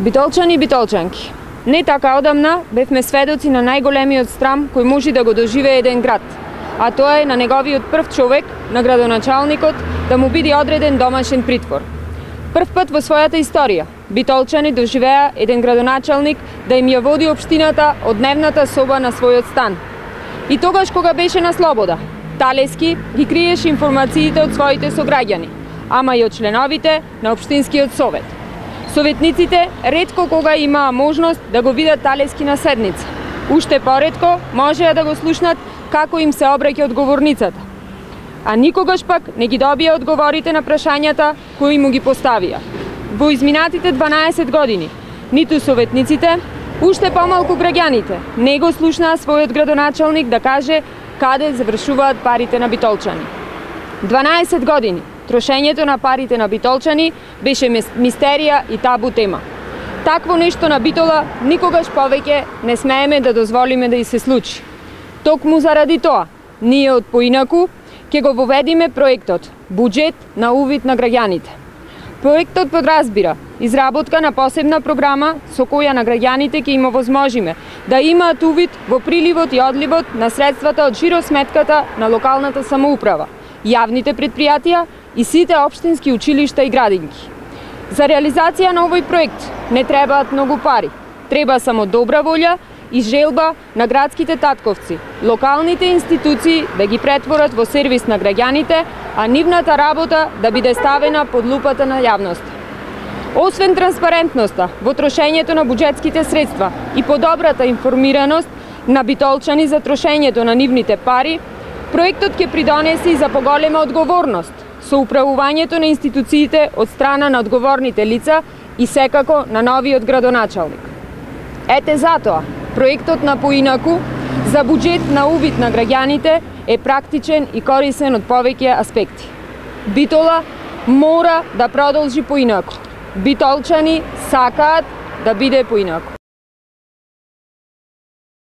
Битолчани и битолчанки, не така одамна бевме сведоци на најголемиот срам кој може да го доживее еден град, а тоа е на неговиот прв човек, на градоначалникот, да му биде одреден домашен притвор. Прв пат во својата историја, битолчани доживеа еден градоначалник да им ја води општината од дневната соба на својот стан. И тогаш кога беше на слобода, талески ги криеше информациите од своите сограѓани, ама и од членовите на општинскиот совет. Советниците ретко кога имаа можност да го видат талески на седница. Уште поретко можеа да го слушнат како им се обраќа одговорницата. А никогаш пак не ги добија одговорите на прашањата кои му ги поставија. Во изминатите 12 години, ниту советниците, уште помалку граѓаните не го слушнаа својот градоначалник да каже каде завршуваат парите на битолчани. 12 години трошењето на парите на битолчани беше мистерија и табу тема. Такво нешто на Битола никогаш повеќе не смееме да дозволиме да и се случи. Токму заради тоа, ние од поинаку ќе го воведиме проектот Буџет на увид на граѓаните. Проектот подразбира изработка на посебна програма со која на граѓаните ќе им овозможиме да имаат увид во приливот и одливот на средствата од жиросметката на локалната самоуправа, јавните предпријатија и сите општински училишта и градинки. За реализација на овој проект не требаат многу пари. Треба само добра волја и желба на градските татковци, локалните институции да ги претворат во сервис на граѓаните, а нивната работа да биде ставена под лупата на јавноста. Освен транспарентноста во трошењето на буџетските средства и подобрата информираност на битолчани за трошењето на нивните пари, проектот ќе придонесе и за поголема одговорност со управувањето на институциите од страна на одговорните лица и секако на новиот градоначалник. Ете затоа, проектот на поинаку за буџет на увид на граѓаните е практичен и корисен од повеќе аспекти. Битола мора да продолжи поинаку. Битолчани сакаат да биде поинаку.